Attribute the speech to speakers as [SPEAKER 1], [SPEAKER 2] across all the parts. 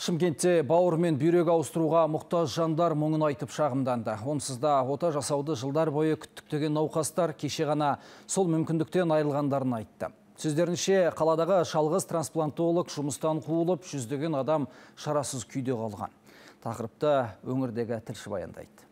[SPEAKER 1] Шымкентте бауыр мен бүйрек ауыстыруға мұқтаж жандар мұңын айтып шағымданды. Онсыз да ота жасауды жылдар бойы күттіктеген науқастар кеше ғана сол мүмкіндіктен айырылғандарын айтты. Сөздерінше, қаладағы шалғыз трансплантолог жұмыстан қуылып, жүздеген адам шарасыз күйде қалған. Тақырыпты өңірдегі тілші баяндайды.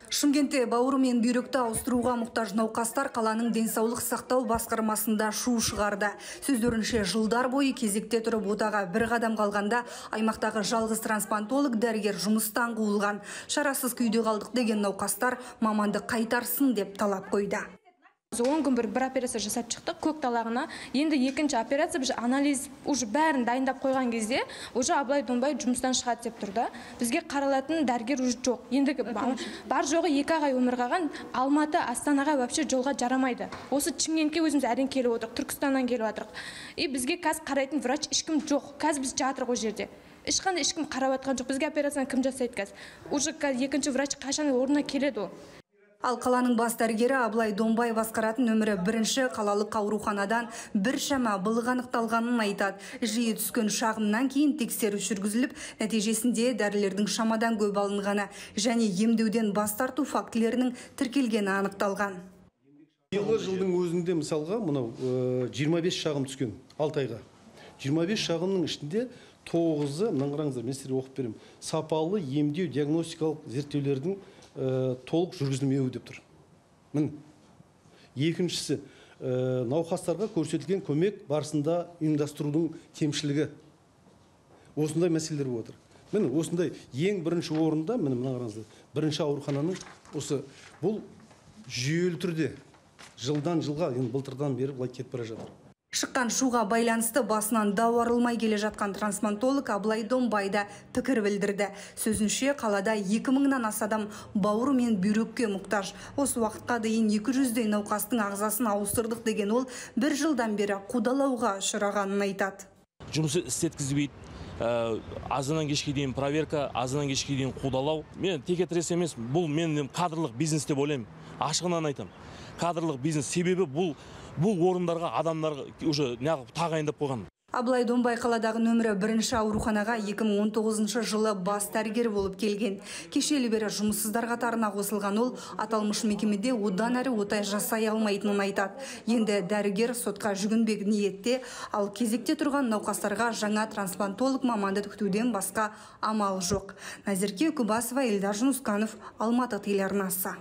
[SPEAKER 2] Шымкентте бауыры мен бүйректі ауыстыруға мұқтаж науқастар қаланың денсаулық сақтау басқармасында шу шығарды. Сөздерінше, жылдар бойы кезекте тұрып отаға бір қадам қалғанда аймақтағы жалғыз трансплантолог дәрігер жұмыстан қуылған. Шарасыз күйде қалдық деген науқастар маманды қайтарсын деп талап қойды.
[SPEAKER 3] 10 күн бір операция жасап шықтық көк талағына. Енді екінші операция біз анализ уже бәрін дайындап қойған кезде уже Аблай Донбай жұмыстан шығады деп тұрды. Бізге қаралатын дәрігер уже жоқ. Енді бар жоғы 2 ай өмір қалған. Алматы, Астанаға вообще жолға жарамайды. Осы Шымкентке өзіміз әрең келіп отырық, Түркістаннан келіп отырық. Бізге қазір қарайтын врач ешкім жоқ. Қазір біз жатырық ол жерде. Ешкім қарап атқан жоқ. Бізге операцияны кім жасайды қазір? Уже екінші врач қашан орнына келеді ол.
[SPEAKER 2] Ал қаланың бас дәрігері Аблай Донбай басқаратын нөмірі 1-ші қалалық ауруханадан біршама былық анықталғанын айтады. Жиі түскен шағымнан кейін тексеріс жүргізіліп, нәтижесінде дәрілердің шамадан көп алынғаны және емдеуден бас тарту фактілерінің тіркелгені анықталған.
[SPEAKER 4] Жылдың өзінде мысалға мынау 25 шағым түскен 6 айға. 25 шағымның ішінде 9-ы, мынаны қараңыздар, мен сіздерге оқып беремін. Сапалы емдеу диагностикалық зерттеулердің толық жүргізілмеуі деп тұр. Екіншісі, науқастарға көрсетілген көмек барысында ұйымдастырудың кемшілігі. Осындай мәселелер болып отыр. Осындай ең бірінші орында, мына қараңыздар, бірінші аурухананың осы бұл жүйелі түрде жылдан жылға, былтырдан бері былай кетіп бара жатыр.
[SPEAKER 2] Шыққан шуға байланысты басынан дау арылмай келе жатқан трансплантолог Аблай Донбайда пікір білдірді. Сөзінше, қалада 2000-нан аса адам бауыры мен бүйрекке мұқтаж. Осы уақытқа дейін 200-дей науқастың ағзасын ауыстырдық деген ол, бір жылдан бері қудалауға ұшырағанын айтады.
[SPEAKER 5] Жұмысы істеткізбейді. Азынан кешке дейін проверка, азынан кешке дейін қудалау. Мен текетірес емес, бұл мен кадрлық бизнес деп ойлаймын. Ашығынан айтам. Кадрлық бизнес себебі бұл орындарға адамдарға уже тағайындап қойған.
[SPEAKER 2] Аблай Донбай қаладағы нөмірі 1-ші ауруханаға 2019 жылы бас дәрігер болып келген. Кешелі бері жұмыссыздар қатарына қосылған ол аталмыш мекемеде одан әрі ота жасай алмайтынын айтады. Енді дәрігер сотқа жүгінбек ниетте, ал кезекте тұрған науқастарға жаңа трансплантолог маманды күтуден басқа амал жоқ. Назерке Күбасова, Эльдар Жунусканов, Алматы телеарнасы.